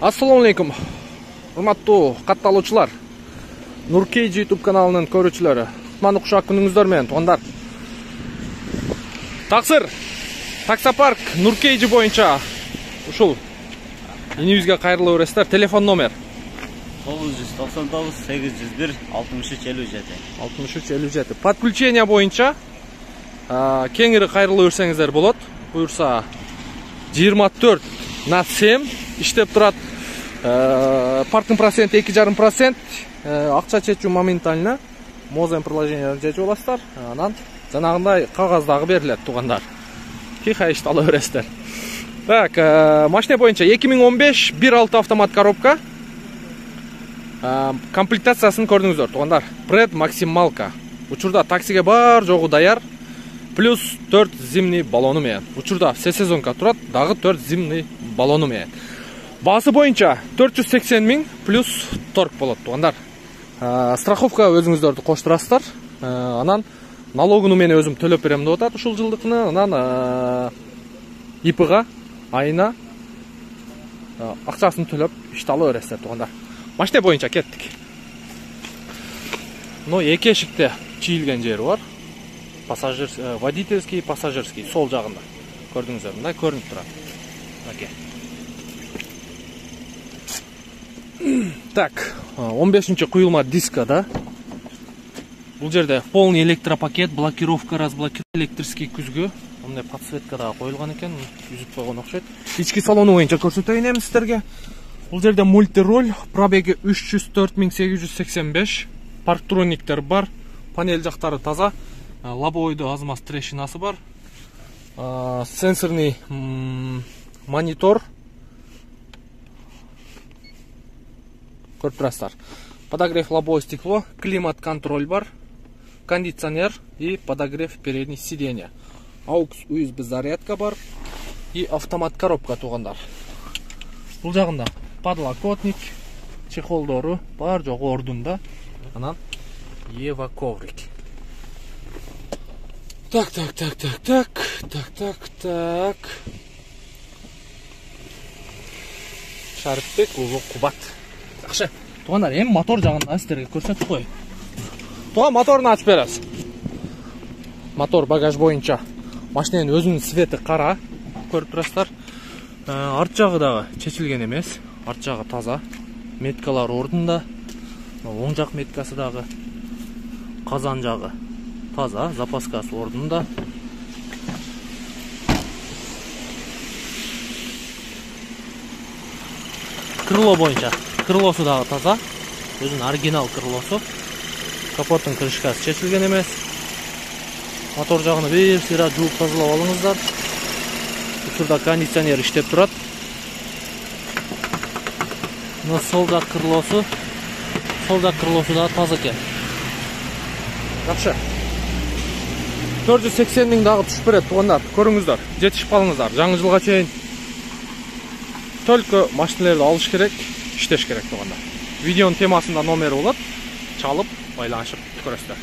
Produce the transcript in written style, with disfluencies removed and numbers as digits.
Assalamu alaikum. Урматтуу катталуучулар. Нуркейджи YouTube каналынын көрүүчүлөрү. Кутмандуу кушак күнүңүздөр менен туугандар. Таксыр. Таксопарк Нуркейджи боюнча ушул инибизге кайрылуу бересиздер. Телефон номер 999 801 6357. 6357. Подключение боюнча кеңири кайрылуу берсеңиздер болот. Буюрса 24/7 иштеп турат. Паркинг процент 2,5%, акча чечүү моментально, мозен приложение чечип аласыздар. Анан жанагындай кагаз дагы берилет туугандар. Тихо иштала бересиздер. Так, машина боюнча 2015 1.6 автомат коробка. Комплектациясын көрдүңүздөр туугандар. Пред максималка. Учурда таксиге бар жогу даяр. Плюс 4 зимний баллону менен. Учурда все сезонка турат, дагы 4 зимний баллону менен. Басы боюнча 480 000 плюс торг болот туугандар. Страховка өзүңүздөрдү коштурасыздар. Анан налогуну мен өзүм төлөп берем деп атат ушул жылдыкны. Анан ИПга айына акчасын төлөп ишти ала бересиздер туугандар. Машина боюнча кеттик. Но эки эшикте чийилген жери бар. Водительский, пассажирский сол жагында. Көрдүңүздөр, мындай көрүнүп турат. Оке. Так, 15-нчи куюлма дискада. Бул жерде полный электропакет, блокировка, разблокировка, электрический күзгү. Мындай подсветка да коюлган экен, үзүп койгон окшойт. Ички салону боюнча көрсөтөйүн эми сиздерге. Бул жерде мультироль, пробеги 304 085, парктрониктер бар, панель жактары таза, лобовойдо аз маз трещинасы бар, сенсорный монитор. Көрүп турасыздар. Подогрев лобовое стекло, климат-контроль бар, кондиционер и подогрев передних сиденья. AUX USB зарядка бар и автомат коробка туугандар. Бул жагында подлокотник, чехолдору бар жогу ордунда. Анан Ева коврик. Так. Шарипбек улуу Кубат. Жакшы. Туугандар, эми мотор жагында сиздерге көрсөтүп коеюн. Туга моторун ачып беребиз. Мотор багаж боюнча машинанын өзүнүн цвети кара, көрүп турасыздар. Арт жагы дагы чечилген эмес, арт жагы таза. Меткалар ордунда. Оң жак меткасы дагы, казан жагы таза, запаскасы ордунда. Крыло боюнча крылосу дагы таза, өзүнүн оригинал крылосу. Капоттун крышкасы чечилген эмес. Мотор жагын бир сыйра жууп тазалап алыңыздар. Учурда кондиционер иштеп турат. Но сол жак крылосу дагы таза экен. Жакшы. 480 000 дагы түшүп берет туугандар. Көрүңүздөр, жетишип калыңыздар. Жаңы жылга чейин только машиналарды алыш керек, иштеш керек туугандар. Видеонун темасында номери болот. Чалып, байланышып көрөсүздөр.